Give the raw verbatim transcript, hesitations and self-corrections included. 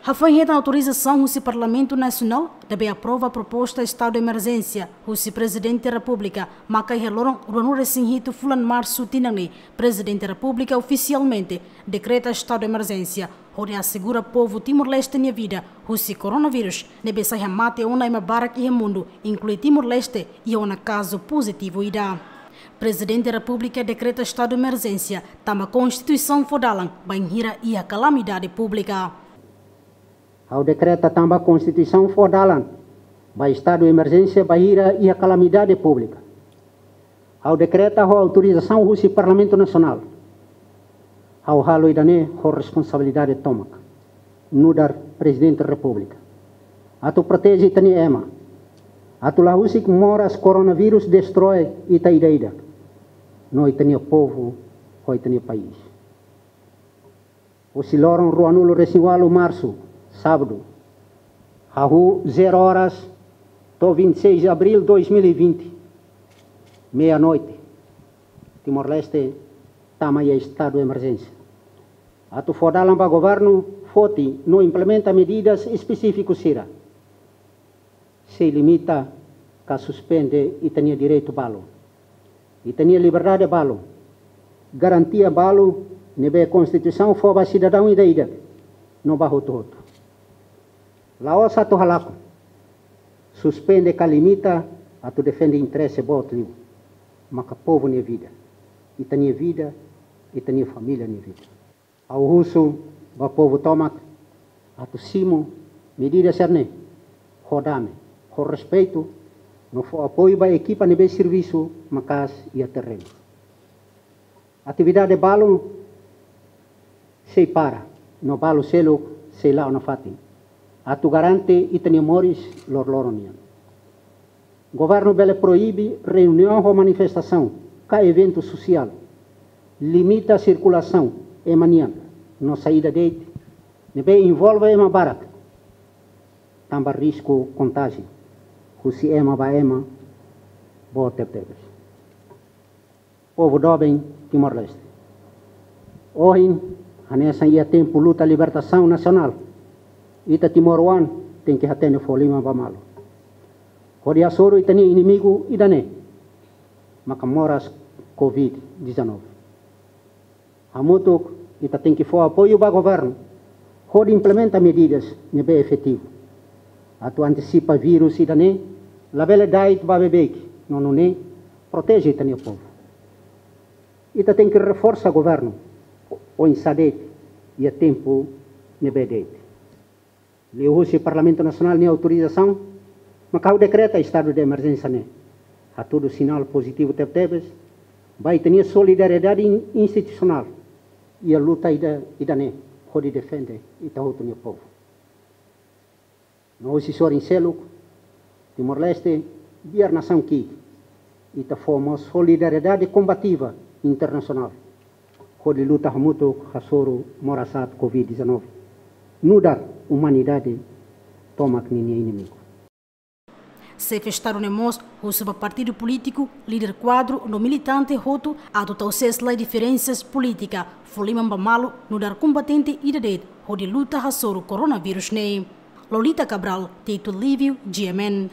Hafoin hetan autorizasaun husi Parlamentu Nasionál, ne'ebé aprova proposta estadu de emerjénsia husi Prezidente Repúblika, maka iha loron ruanulu-resin-hitu fulan Marsu tinan ne'e, Prezidente Repúblika ofisialmente dekreta estadu de emerjénsia, hodi asegura povu Timor-Leste nia vida husi koronavírus, ne'ebé sai hamate ona ema barak iha mundu, inklui Timor-Leste, iha ona kazu pozitivu ida. Prezidente Repúblika dekreta estadu de emerjénsia tanba Konstituisaun fó dalan bainhira iha kalamidade públika. Ha'u dekreta tanba Konstituisaun fó dalan ba estadu de emerjénsia bainhira iha kalamidade públika. Ha'u dekreta ho autorizasaun husi Parlamentu Nasionál. Ha'u halo ida-ne'e ho responsabilidade tomak, nu'udar Prezidente Repúblika, atu proteje ita-nia ema, atu la husik moras koronavírus destroi ita ida-idak, no ita-nia povu, ho ita-nia país. Husi loron ruanulu-resin-ualu Marsu, Sábadu, hahú zero horas, to'o vinte e seis de abril dois mil e vinte, meia-noite, Timor-Leste tama iha estadu de emerjénsia, atu fó dalan ba governu foti no implementa medidas espesífiku sira, sei limita ka suspende ita-nia direitu balu, ita-nia liberdade balu, garantia balu ne'ebé Konstituisaun fó ba sidadaun ida-idak no ba hotu-hotu. La'ós atu halakon, suspende ka limita atu defende interese boot liu, maka povu nia vida, ita-nia vida, ita-nia família nia vida. Ha'u husu ba povu tomak atu simu medida sira-ne'e ho dame, ho respeitu, no fó apoiu ba ekipa ne'ebé servisu maka'as iha terrenu. Atividade balu sei para, no balu seluk sei la'o nafatin, atu garante ita-nia moris loroloron nian. Governu bele proibe reuniaun ho manifestasaun ka eventu sosiál, limita sirkulasaun ema nian no saida de'it ne'ebé envolve ema barak, tanba risku kontájiu husi ema ba ema boot tebetebes. Povu doben Timor-Leste, ohin hanesan iha tempu luta libertasaun nasionál, ita timoroan tenke hatene fó liman ba malu, hodi hasoru ita-nia inimigu ida-ne'e, maka moras covid dezanove. Hamutuk ita tenke fó apoiu ba governu hodi implementa medidas ne'ebé efetivu, atu antisipa vírus ida-ne'e labele da'et ba beibeik, no nune'e proteje ita-nia povu. Ita tenke reforsa governu oinsá de'it iha tempu ne'ebé de'it. Liuhusi Parlamentu Nasionál nia autorizasaun, maka ha'u dekreta estadu de emerjénsia ne'e, hatudu sinál pozitivu tebetebes ba ita-nia solidariedade in-, institusionál iha luta ida, ida-ne'e, hodi defende ita hotu nia povu. No husi sorin seluk, Timor-Leste biar nasaun ki'ik, ita fó mós solidariedade kombativa internasionál hodi luta hamutuk hasoru moras aat covid dezanove, nu'udar umanidade tomak ninia inimigu. Xefe Estadu ne'e mós husu ba partidu polítiku, líder kuadru no militante hotu atu tau sees lai diferensas polítika, fó liman ba malu nu'udar kombatente ida de'it hodi luta hasoru koronavírus ne'e. Lolita Cabral, Tito Lívio, G M N.